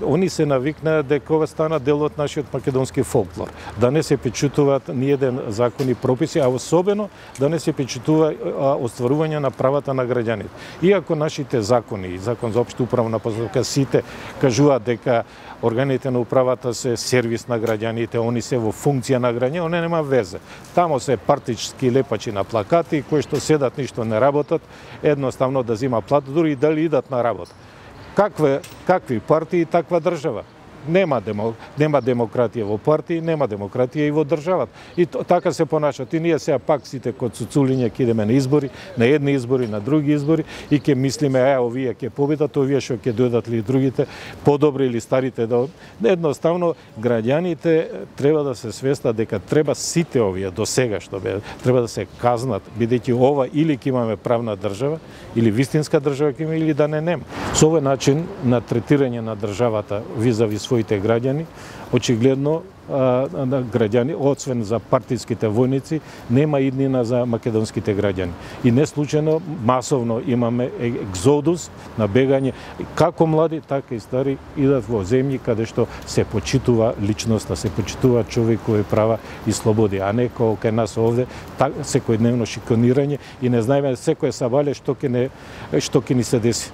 Они се навикнаа дека ова стана дел од нашиот македонски фолклор. Да не се печутуваат ниеден закони прописи, а особено да не се печутува остварување на правата на граѓаните. Иако нашите закони, закон за општа управна постапка, сите кажуваат дека органите на управата се сервис на граѓаните, они се во функција на граѓаните, они нема везе. Тамо се партички лепачи на плакати кои што седат ништо не работат, едноставно да зима плата, дури и дали идат на работа. Какви партии, таква држава. Нема демократија во партии, нема демократија и во државата. И така се понашат. И ние сега пак сите код цуцулиња ќе идеме на избори, на едни избори, на други избори и ќе мислиме, овие ќе победат, овие што ќе дојдат ли другите, подобри или старите да... Едноставно, граѓаните треба да се свестат дека треба сите овие до сега што треба да се казнат, бидејќи ова или ќе имаме правна држава, или вистинска држава ќе имаме, или да не нема. Со овој начин на третирање на државата визави своите граѓани, очигледно граѓани, освен за партиските војници, нема иднина за македонските граѓани. И не случајно масовно имаме екзодус на бегање, како млади, така и стари идат во земји каде што се почитува личноста, се почитува човекови права и слободи, а не како кај нас овде секојдневно шиканирање и не знаеме секој сабале што ќе ни се деси.